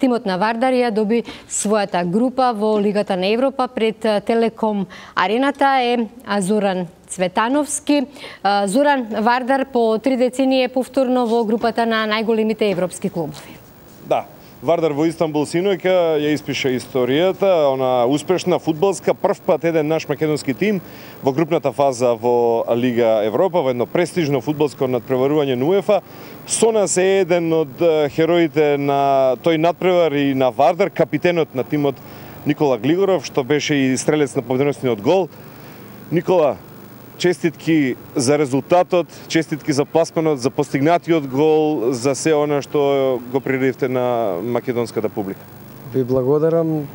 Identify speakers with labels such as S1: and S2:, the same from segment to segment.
S1: Тимот на Вардар ја доби својата група во Лигата на Европа. Пред Телеком Арената е Зоран Цветановски. Зоран, Вардар по 3 децении е повторно во групата на најголемите европски клубови.
S2: Да, Вардар во Истанбул синоќа ја испиша историјата, она успешна фудбалска, прв пат еден наш македонски тим во групната фаза во Лига Европа, во едно престижно фудбалско надпреварување на УЕФА. Со нас е еден од хероите на тој надпревар и на Вардар, капитенот на тимот Никола Глигоров, што беше и стрелец на победоносниот гол. Никола, честитки за резултатот, честитки за пласманот, за постигнатиот гол, за се она што го приредивте на македонската публика.
S3: Ви благодарам,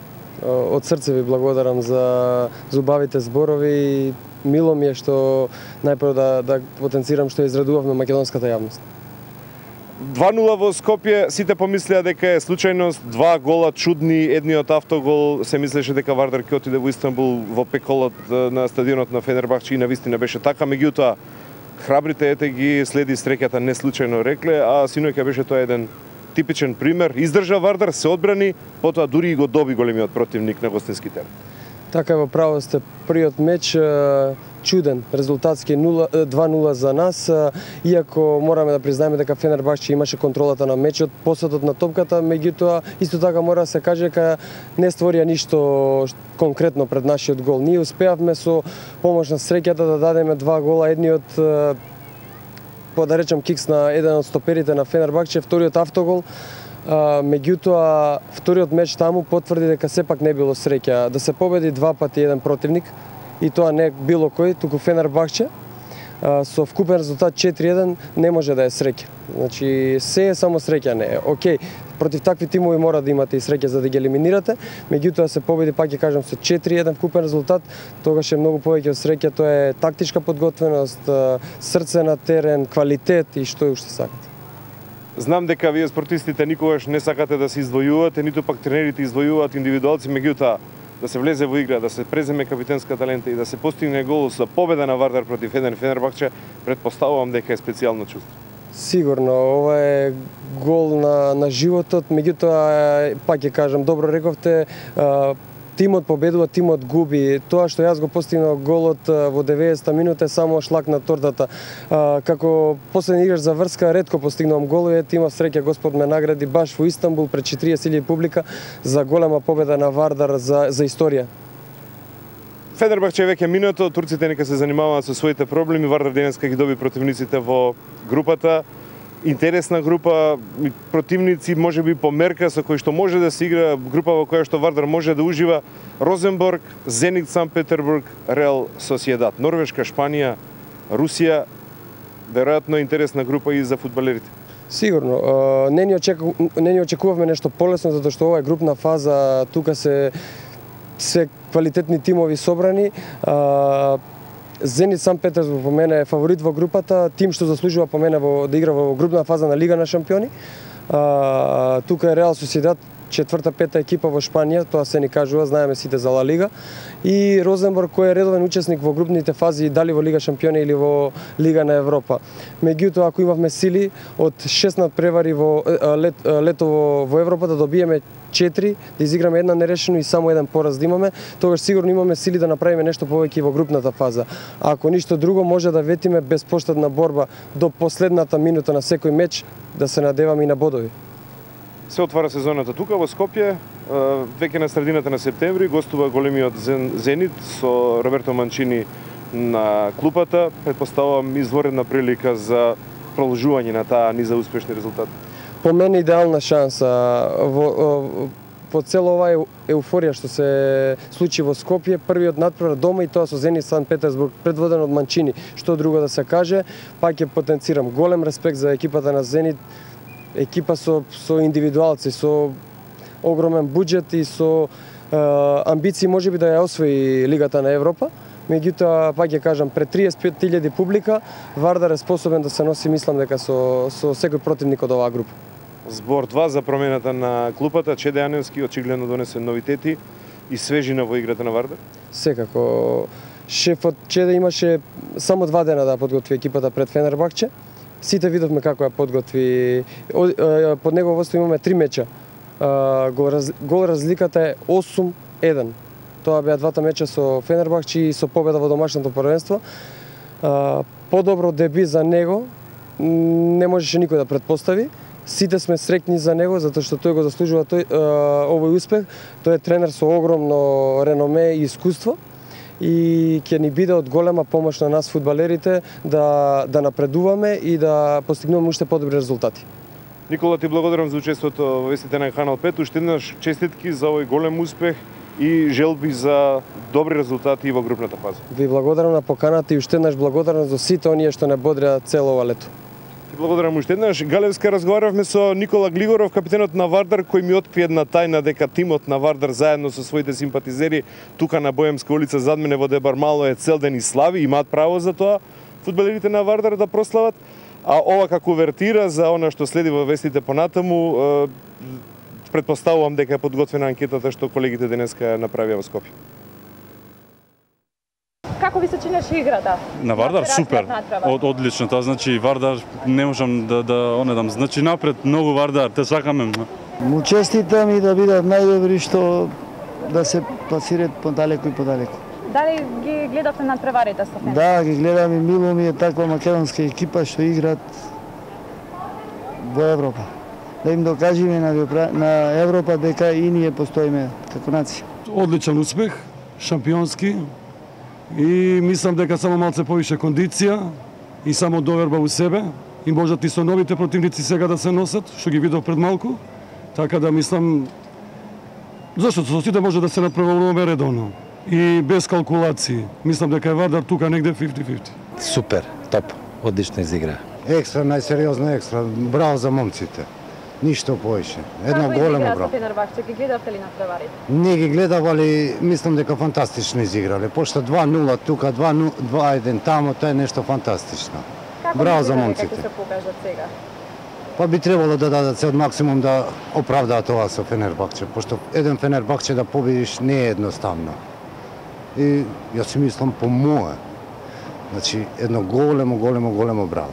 S3: од срце ви благодарам за убавите зборови. Мило ми е што најпрво да потенцирам што израдувавме македонската јавност.
S2: 2-0 во Скопје, сите помислеа дека е случајност, 2 гола чудни, едниот автогол се мислеше дека Вардар ќе отиде во Истанбул во пеколот на стадионот на Фенербахче и навистина беше така, меѓутоа храбрите ете ги следи среќата не случајно рекле, а синоќа беше тоа еден типичен пример. Издржа Вардар, се одбрани, потоа дури и го доби големиот противник на гостински терен.
S3: Така во право сте, првиот меч чуден, резултатски 2-0 за нас, иако мораме да признаеме дека Фенербахче имаше контролата на мечот, посетот на топката, меѓутоа исто така мора да се каже дека не створија ништо конкретно пред нашиот гол. Ние успеавме со помош на среќата да дадеме 2 гола, едниот да речем кикс на еден од стоперите на Фенербахче, вториот автогол. Меѓутоа вториот меч таму потврди дека сепак не било среќа да се победи 2 пати еден противник, и тоа не било кој, туку Фенербахче, со вкупен резултат 4-1 не може да е среќа. Значи, се е само среќа не е. Океј, против такви тимови мора да имате и среќа за да ги елиминирате, меѓутоа се победи, пак ќе кажам, со 4-1 вкупен резултат, тогаш е многу повеќе од среќа, тоа е тактичка подготвеност, срце на терен, квалитет и што уште сакате.
S2: Знам дека вие спортистите никогаш не сакате да се издвојувате, ниту пак тренерите издвојуваат индивидуалци, меѓутоа да се влезе во игра, да се преземе капитенска талента и да се постигне гол за победа на Вардар против еден Фенербахче, предпоставувам дека е специјално чувство.
S3: Сигурно, ова е гол на животот, меѓутоа пак ќе кажам, добро рековте, тимот победува, тимот губи. Тоа што јас го постигнав голот во 90-та минута е само шлак на тортата. Како последен играч за врска, ретко постигнувам голови, имав среќа, Господ ме награди баш во Истанбул пред 40.000 публика за голема победа на Вардар за историја.
S2: Фенербахче веќе минато, турците нека се занимаваат со своите проблеми, Вардар денеска ги доби противниците во групата. Интересна група, противници можеби по мерка со кои што може да се игра, група во која што Вардар може да ужива: Розенборг, Зенит Санкт Петербург, Реал Сосиедад, Норвешка, Шпанија, Русија. Веројатно интересна група и за фудбалерите.
S3: Сигурно, не ни очекувавме нешто полесно, затоа што ова е групна фаза, тука се квалитетни тимови собрани. Зенит Санкт Петербург по мене е фаворит во групата, тим што заслужува по мене да игра во групна фаза на Лига на шампиони. Тука е Реал Сосиедад, 4-5 екипа во Шпанија, тоа се ни кажува, знаеме сите за Ла Лига. И Розенборг, кој е редовен учесник во групните фази, дали во Лига шампиони или во Лига на Европа. Меѓутоа, ако имавме сили од 6 надпревари во лето во Европа да добиеме 4, да изиграме една нерешено и само еден пораз да имаме, тогаш сигурно имаме сили да направиме нешто повеќе во групната фаза. А ако ништо друго, може да ветиме безпоштедна борба до последната минута на секој меч, да се надеваме и на бодови.
S2: Се отвара сезоната тука во Скопје, веќе на средината на септември гостува големиот Зенит со Роберто Манчини на клупата. Предпоставувам изворедна прилика за продолжување на таа низа успешни резултати.
S3: По мене идеална шанса во цела оваа еуфорија што се случи во Скопје, првиот надпревар дома и тоа со Зенит Санкт Петербург, предводен од Манчини. Што друго да се каже, пак ќе потенцирам голем респект за екипата на Зенит, екипа со индивидуалци, со огромен буџет и со амбиции можеби да ја освои Лигата на Европа. Меѓутоа, пак ќе кажам, пред 35.000 публика, Вардар е способен да се носи, мислам дека со секој противник од оваа група.
S2: Збор 2 за промената на клупата, Чеде Јаневски очигледно донесе новитети и свежина во играта на Вардар?
S3: Секако. Шефот Чеде имаше само 2 дена да подготви екипата пред Фенербахче. Сите видовме како ја подготви. Под негово водство имаме 3 меча Гол разликата е 8-1. Тоа беа двата меча со Фенербахче и со победа во домашното првенство. Подобро деби за него не можеше никој да претпостави. Сите сме среќни за него затоа што тој го заслужува овој успех. Тој е тренер со огромно реноме и искуство и ќе ни биде од голема помош на нас фудбалерите да напредуваме и да постигнуваме уште подобри резултати.
S2: Никола, ти благодарам за учеството во вестите на Канал 5. Уште еднаш честитки за овој голем успех и желби за добри резултати и во групната фаза. Ви
S3: благодарам на поканата и уште еднаш благодарам за сите оние што не бодреа цело ова лето.
S2: Ти благодарам уште еднаш. Галевска, разговаравме со Никола Глигоров, капитенот на Вардар, кој ми откри една тајна дека тимот на Вардар заедно со своите симпатизери тука на Боемска улица зад мене во Дебармало е цел ден и слави, имаат право за тоа фудбалерите на Вардар да прослават. А ова како увертира за она што следи во вестите понатаму, претпоставувам дека е подготвена анкетата што колегите денеска направија во Скопје.
S4: Како ви се чинеше играта?
S5: На Вардар супер. Одлично, тоа значи Вардар не можам да онедам. Значи напред многу Вардар, те сакаме.
S6: Му честитам и да бидат најдобри што да се пласираат подалеку и подалеку.
S4: Дали ги гледавте надпреварите со Фенер?
S6: Да, ги гледам и мило ми е таква македонска екипа што играат во Европа. Да им докажеме на Европа дека и ние постоиме како нација.
S7: Одличен успех, шампионски и мислам дека само малце повише кондиција и само доверба у себе и можат и со новите противници сега да се носат, што ги видов пред малку. Така да мислам зашто со сите може да се надпреваруваме редовно и без калкулации. Мислам дека е Вардар тука негде 50-50.
S8: Супер, топ, одлично изигра.
S9: Екстра, најсериозно екстра. Браво за момците. Ништо повеќе. Едно големо браво.
S4: Како Фенербахче, ги гледавте ли надпреварите?
S9: Не ги гледав, али мислам дека фантастично изиграле. Пошто 2-0 тука, 2-1 тамо, тоа е нешто фантастично. Браво за момците.
S4: Како се покажат сега?
S9: Па би требало да дадат се од максимум да оправдаат ова со Фенербахче, пошто еден Фенербахче да победиш не е едноставно. И јас си мислам по мое. Значи, едно големо браво.